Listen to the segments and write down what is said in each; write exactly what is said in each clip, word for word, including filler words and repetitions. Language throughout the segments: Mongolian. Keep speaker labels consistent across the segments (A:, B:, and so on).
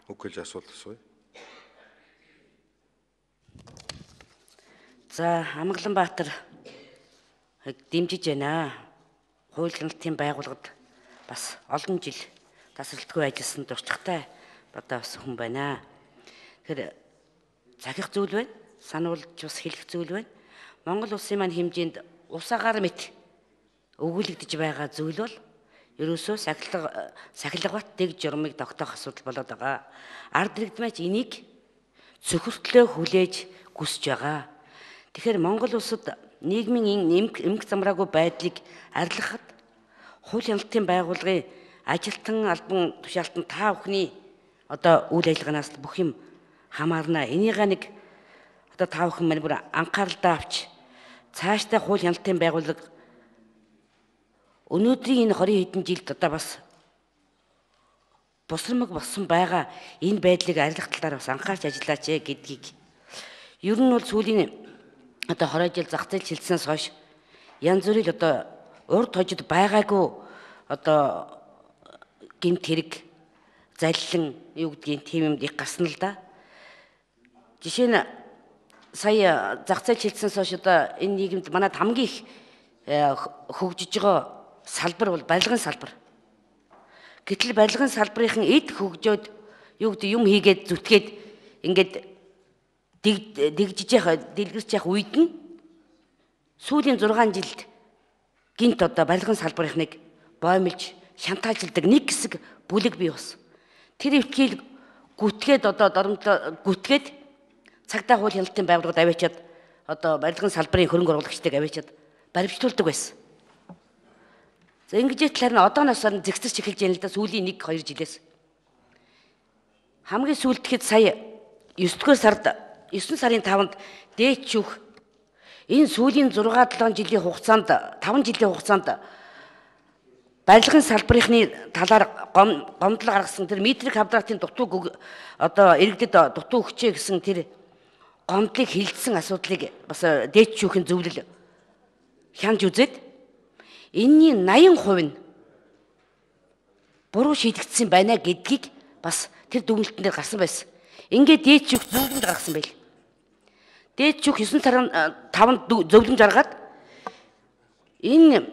A: Үг хэлж асуулт асууя.
B: За, Амгаланбаатар дэмжиж байна. Хууль хяналтын байгууллагад бас олон жил тасралтгүй ажилласан туршлагатай одоо бас хүн байна. Тэгэхээр захих зүйл байна. Сануулж бас хэлэх зүйл байна. Монгол улсын маань хэмжээнд ус агаар мэт өгүүлэгдэж байгаа зүйл бол ерөөсөө сахилга сахилгават дэг журмыг тогтоох асуудал болоод байгаа. Ард иргэдмээч энийг цөхөртлөө хүлээж хүсэж байгаа. Тэгэхээр Монгол улсад нийгмийн эмх замраагүй байдлыг арилгахад хууль хяналтын байгууллагын ажилтан албан тушаалтан та бүхний одоо үйл ажиллагаанаас бүх юм хамаарна. Энийгээ нэг одоо та бүхэн мань бүр анхааралдаа авч цаашдаа хууль хяналтын байгууллага өнөөдрийн энэ хорин хэдэн жилд одоо бас бусрамг болсон байгаа энэ байдлыг арилгах талаар бас анхаарч ажиллаач гэдгийг. Ер нь бол сүүлийн одоо хорой жил зах зээл хилцснээс хойш янз бүрийн одоо урд хожид байгаагүй одоо гэмт хэрэг заллин юу гэдгийг тийм юм их гарсан л да. Жишээ нь сая зах зээл хилцснээс хойш одоо энэ нийгэмд манайд хамгийн их хөгжиж байгаа салбар бол барилгын салбар. Гэтэл барилгын салбарын эд хөгжөөд юу гэдэг юм хийгээд зүтгээд ингээд дэгжиж яхаа дэлгэрч яхах үед нь сүүлийн зургаан жилд гинт одоо барилгын салбарын нэг боомлж шантаажлдаг нэг хэсэг бүлэг бий болсон. Тэр өвтгийг гүтгээд одоо доромжлоо гүтгээд цагдаа хууль хяналтын байгууллагад аваачаад одоо барилгын салбарын хөрөнгө оруулагчдыг аваачаад баримтлуулдаг байсан. За ингэж талаар нь одооноос нь зэгцэрч эхэлж яана л да сүүлийн нэг хоёр жилээс. Хамгийн сүүлдэхэд сая есдүгээр сард есөн сарын таванд дээч шүүх энэ сүүлийн зургаа долоон жилийн хугацаанд таван жилийн хугацаанд барилгын салбарынхны талаар гомдол гаргасан тэр метрик квадратын дутуу одоо иргэдэд дутуу өгчээ гэсэн тэр гомдлыг хилцсэн асуудлыг бас дээч шүүхийн зөвлөл хянж үзээд энэний наян хувь нь буруу шийдэгдсэн байна гэдгийг бас тэр дүгнэлтэн дээр гарсан байсан. Ингээд дээд шүүх зөвлөмж гаргасан байл. Дээд шүүх есөн сарын таванд зөвлөмж гаргаад энэ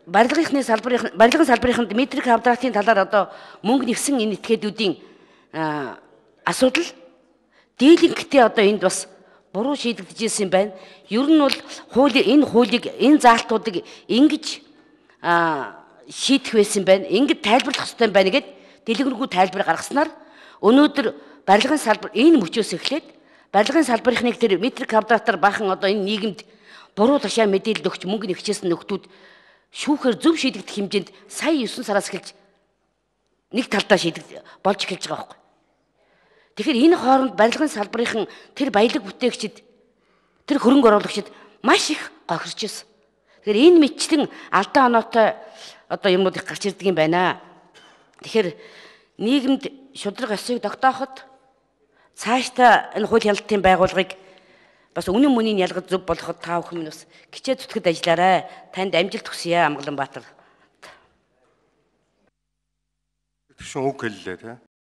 B: барилгын салбарын барилгын салбарынд метрик квадратын талаар одоо мөнгө нэгсэн энэ этгээдүүдийн асуудал дийлэнхтэй одоо энд бас буруу шийдэгдэж ирсэн байна. Ер нь бол хуулийн энэ хуулийг энэ заалтуудыг ингэж шийдэх байсан байна. Ингэж тайлбарлах хэрэгтэй байна гэд дэлгэрэнгүй тайлбар гаргаснаар өнөөдөр барилгын салбар энэ мөчөөс эхлээд барилгын салбарынхны тэр метрик квадратаар бахан одоо энэ нийгэмд буруу ташаа мэдээлэл өгч мөнгө нэгчээсэн нөхдүүд шүүхээр зөв шийдэгдэх хэмжээнд сая есөн сараас эхэлж нэг талдаа шийдэгдэж болж эхэлж байгаа байхгүй. Тэгэхээр энэ хооронд барилгын салбарын тэр баялаг бүтээгчид тэр хөрөнгө оруулагчид маш их гохирч ирсэн. Тэгэхээр энэ мэтчлэн алдаа оноотой одоо юмнууд их гарч ирдэг юм байна. Тэгэхээр нийгэмд шудраг ёсыг тогтооход цаашдаа энэ хууль хяналтын байгууллагыг бас үнэн мөнийн ялгаж зөв болгоход та бүхэн минь бас хичээл зүтгэд ажиллаарай. Танд амжилт хүсье Амгаланбаатар.
A: Шүүх үг хэллээ тий.